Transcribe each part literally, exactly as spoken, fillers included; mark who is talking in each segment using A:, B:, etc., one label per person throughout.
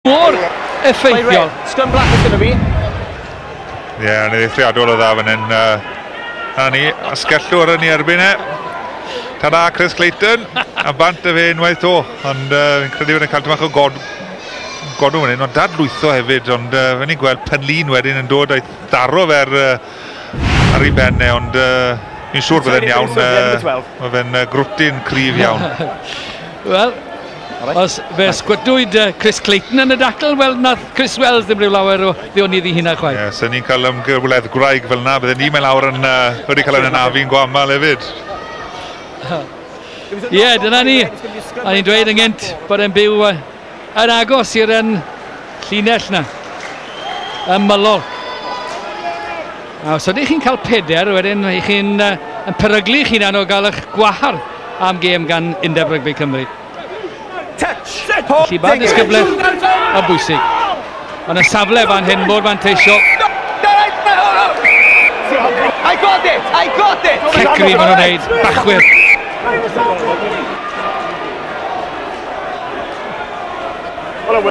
A: Mor effeithiol.
B: Scrum black is going to be.
C: Ie, yeah, yn eithriadol o dda fan hyn. Uh, na ni, asgellwr yn ei erbyn e. Ta-da, Chris Clayton. A bant y fe unwaith to. Ond uh, fi'n credu bod e'n cael tipyn bach o god, godw fan hyn, ond dadlwytho hefyd. Ond uh, fe ni'n gweld Penlyn wedyn yn dod a'i tharo fe ar, uh, ar ei ben e, ond uh, fi'n siŵr bydd e'n iawn. Uh, mae fe'n uh, grwtyn cryf iawn.
A: Wel, os fe sgwydwyd Chris Clayton yn y dacl, wel, nath Chris Wells ddim rhyw lawer o ddionydd i hynna chwaith.
C: Ie, yeah, so ni'n cael ymgywledd gwraig fel yna, bydden ni'n mynd lawr yn, uh, wedi cael yn anafu'n gwamal hefyd.
A: Ie, yeah, dyna ni. A ni'n dweud yn gynt bod e'n byw uh, yn agos i'r yn llinell na, ymylol. A os ydych chi'n cael peder, wedyn ych chi'n uh, yn peryglu eich hunan o gael eich gwahardd am gêm gan Undeb Rygbi Cymru.
B: Touch!
A: Felly mae'r disgyblaeth yn bwysig. Ond y safle fan hyn mor fanteisiol.
B: I got it! I got it!
A: Cecri maen nhw'n neud, bachwyr.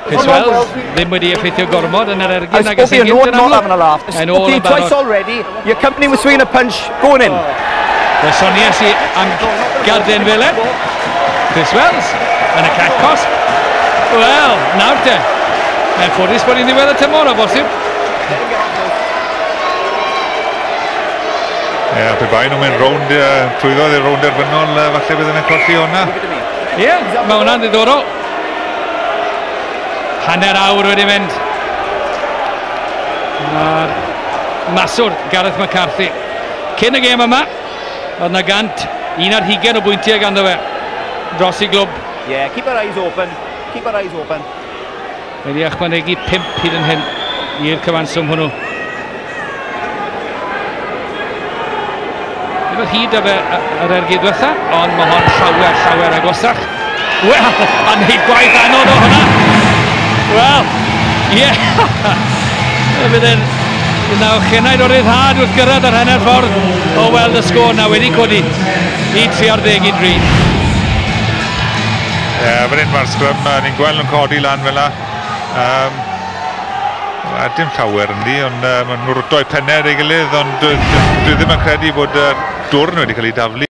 A: Chris Wells ddim wedi effeithio gormod yn yr ergyd nag ys yn gynt yn amlwg. Yn ôl yn barod.
B: Twice already, your company was swinging a punch, going in.
A: Fe soniais i am garden felen. Chris Wells yn y cat cosp. Wel, nawr te. Mae'n ffodus bod hi'n ddiwedd y tymor o bosib.
C: Ie, yeah, pe bai nhw'n mynd rownd, uh, trwyddodd i'r rownd derfynol, uh, falle bydden nhw'n colli hwnna.
A: Ie, yeah, mae hwnna'n ddiddorol. Hanner awr wedi mynd. Mae'r maswr Gareth McCarthy. Cyn y gêm yma, oedd na gant un ar hugain o bwyntiau ganddo fe dros i glwb.
B: Yeah, keep our eyes open. Keep our eyes open.
A: Wedi ychwanegu pump hyd yn hyn i'r cyfanswm hwnnw. Ddim o hyd â fe yr ergyd diwetha, ond mae hon llawer, llawer agosach. Wel, a wneud gwaith anodd o hwnna. Wel, ie. Yeah. Bydd e'n naw chenaid o ryddhad wrth gyrraedd yr hanner ffordd o weld y sgôr na wedi codi i tri ar ddeg i dri.
C: Ie, yeah, fan hyn mae'r sgrym, ni'n gweld nhw'n codi lan fel la. Um, a dim llawer yndi, ond uh, maen nhw'n rwto eu pennau ar ei gilydd, ond dwi, dwi ddim yn credu bod y dwrn wedi cael ei daflu.